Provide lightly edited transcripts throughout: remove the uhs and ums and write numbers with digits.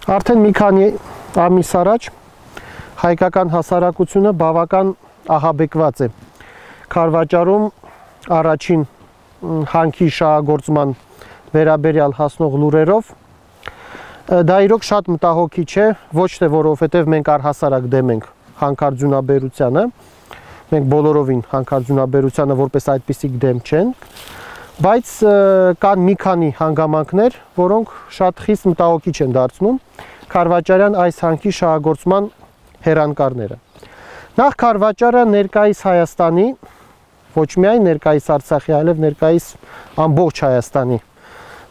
Արդեն մի քանի ամիս առաջ հայկական հասարակությունը բավական ահաբեկված է Քարվաճարում առաջին հանքի շահագործման վերաբերյալ հասնող լուրերով։ Դա իրոք շատ մտահոգիչ է, ոչ թե որովհետև մենք առհասարակ դեմ ենք հանքարդյունաբերությանը, մենք բոլորովին հանքարդյունաբերությանը որպես այդպիսիք դեմ չենք, բայց կան մի քանի հանգամանքներ, որոնք շատ խիստ մտահոգիչ են դարձնում Քարվաճարյան այս հանքի շահագործման հեռանկարները։ Նախ Քարվաճարը ներկայիս Հայաստանի, ոչ միայն ներկայիս Արցախի, այլև ներկայիս ամբողջ Հայաստանի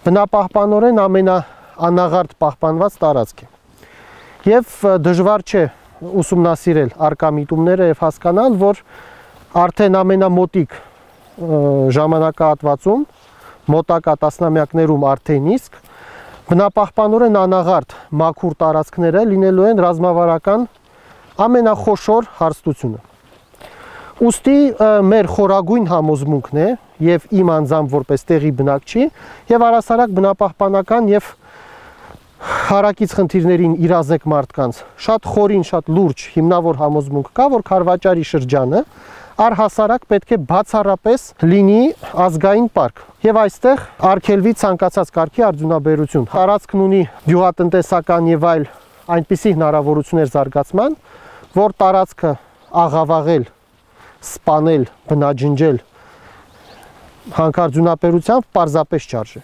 բնապահպանորեն ամենաանաղարտ պահպանված տարածք է։ Եվ դժվար չէ ուսումնասիրել առկա միտումները եւ հասկանալ, որ արդեն ամենամոտիկ ժամանակահատվածում, մոտակա տասնամյակներում արդեն իսկ բնապահպանորեն անաղարտ մաքուր տարածքները լինելու են ռազմավարական ամենախոշոր հարստությունը։ Ուստի մեր խորագույն համոզմունքն է եւ իմ անձամբ որպես տեղի բնակչի եւ առասարակ բնապահպանական եւ հարակից խնդիրներին իրազեկ մարդկանց շատ խորին, շատ լուրջ հիմնավոր համոզմունք կա, որ Քարվաճարի շրջանը առհասարակ պետք է բացառապես լինի ազգային պարկ եւ այստեղ արգելվի ցանկացած կարգի արդյունաբերություն։ Տարածքն ունի գյուղատնտեսական եւ այլ այնպիսի հնարավորություններ զարգացման, որ տարածքը աղավաղել, սպանել, բնաջնջել հանքարդյունաբերությամբ պարզապես չարժե։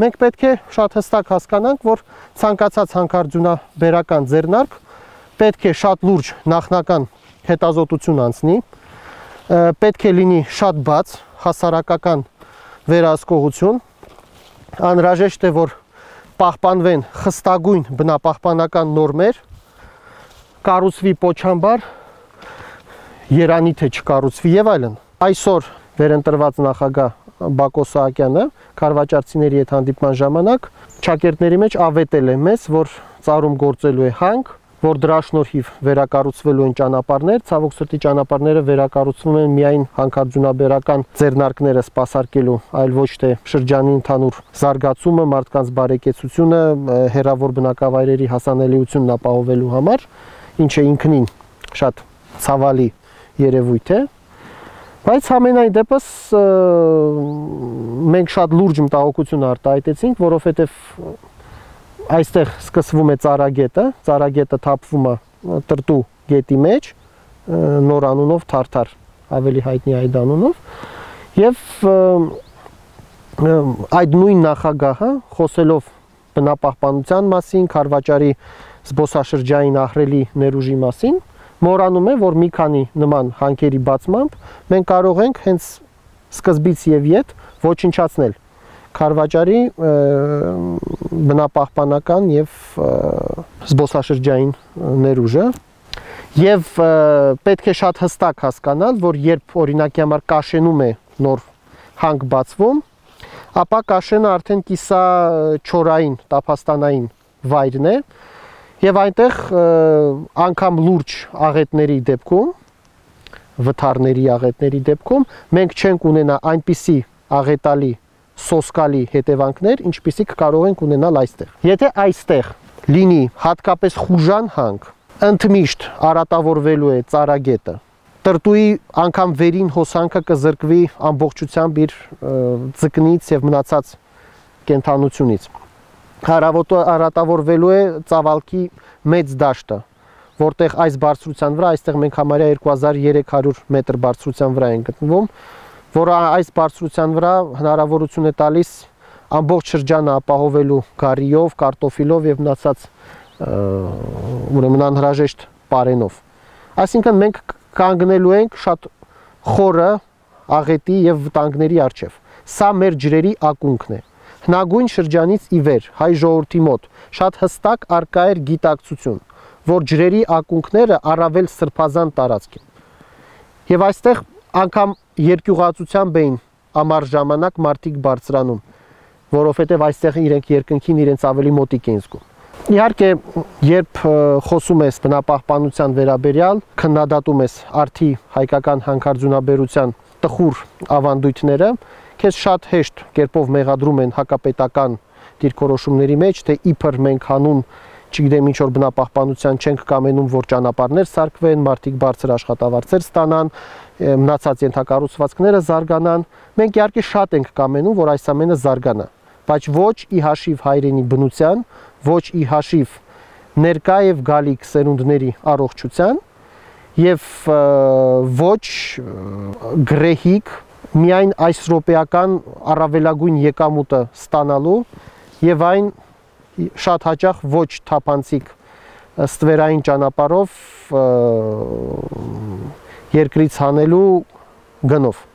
Մենք պետք է շատ հստակ հասկանանք, որ ցանկացած հանքարդյունաբերական ձեռնարկ պետք է շատ լուրջ նախնական հետազոտություն անցնի, պետք է լինի շատ բաց, հասարակական վերահսկողություն, անհրաժեշտ է, որ պահպանվեն խստագույն բնապահպանական նորմեր, կառուցվի պոչամբար, երանի թե չկառուցվի եւ այլն։ Այսօր վերընտրված նախագահ Բակո Սահակյանը քարվաճարցիների հետ հանդիպման ժամանակ ճակերտների մեջ ավետել է մեզ, որ ծառում գործելու է հանք, որ դրա շնորհիվ վերակառուցվելու են ճանապարհներ, ցավոք սրտի ճանապարհները վերակառուցվում են միայն հանքարդյունաբերական ձեռնարկները սպասարկելու, այլ ոչ թե շրջանի ընդհանուր զարգացումը, մարդկանց բարեկեցությունը, հեռավոր բնակավայրերի հասանելիությունն ապահովելու համար, ինչը ինքնին շատ ցավալի երևույթ է, բայց համենայն դեպս մենք շատ լուրջ մտահոգություն արտահայտեցինք, որովհետև այստեղ սկսվում է ծառագետը թափվում է Տրտու գետի մեջ, նոր անունով Թարթար, ավելի հայտնի այդ անունով, եւ այդ նույն նախագահը խոսելով բնապահպանության մասին, Քարվաճարի զբոսաշրջային ահռելի ներուժի մասին, մոռանում է, որ մի քանի նման հանքերի բացմամբ մենք կարող ենք հենց սկզբից եւ ետ ոչնչացնել Քարվաճարի բնապահպանական եւ զբոսաշրջային ներուժը եւ պետք է շատ հստակ հասկանալ, որ երբ օրինակի համար Կաշենում է նոր հանք բացվում, ապա Կաշենը արդեն կիսաչորային, տափաստանային վայրն է եւ այնտեղ անգամ լուրջ աղետների դեպքում, վթարների աղետների դեպքում մենք չենք ունենա այնպիսի աղետալի սոսկալի հետևանքներ, ինչպիսիք կարող ենք ունենալ այստեղ։ Եթե այստեղ լինի հատկապես խուժան հանք, ընդմիշտ արատավորվելու է ծառագետը, Տրտուի անգամ վերին հոսանքը կզրկվի ամբողջությամբ իր ձկնից եւ մնացած կենթանությունից։ Արատավորվելու է ծավալքի մեծ դաշտը, որտեղ այս բարձրության վրա, այստեղ մենք համարյա 2300 մետր բարձրության վրա ենք գտնվում, որ այս բարձրության վրա հնարավորություն է տալիս ամբողջ շրջանը ապահովելու գարիով, կարտոֆիլով եւ մնացած ուրեմն անհրաժեշտ պարենով։ Այսինքն մենք կանգնելու ենք շատ խորը աղետի եւ վտանգների առջեւ։ Սա մեր ջրերի ակունքն է։ Հնագույն շրջանից ի վեր հայ ժողովրդի մոտ շատ հստակ արկա էր գիտակցություն, որ ջրերի ակունքները առավել սրբազան տարածք են։ Եվ այստեղ անգամ երկյուղացությամբ էին ամառ ժամանակ մարդիկ բարձրանում, որովհետև այստեղ իրենք երկնքին իրենց ավելի մոտիկ են զգում։ Իհարկե, երբ խոսում ես բնապահպանության վերաբերյալ, քննադատում ես արդի հայկական հանքարդյունաբերության տխուր ավանդույթները, քեզ շատ հեշտ կերպով մեղադրում են հակապետական դիրքորոշումների մեջ, թե իբր մենք հանուն չգիտեմ ինչ որ բնապահպանության չենք կամենում, որ ճանապարհներ սարքվեն, մարդիկ բարձր աշխատավարձեր ստանան, մնացած ենթակառուցվածքները զարգանան։ Մենք իհարկե շատ ենք կամենում, որ այս ամենը զարգանա, բայց ոչ ի հաշիվ հայրենի բնության, ոչ ի հաշիվ ներկա եւ գալիք սերունդների առողջության եւ ոչ գրեհիկ միայն այս ռոպեական առավելագույն եկամուտը ստանալու եւ այն շատ հաճախ ոչ թափանցիկ ստվերային ճանապարհով երկրից հանելու գնով։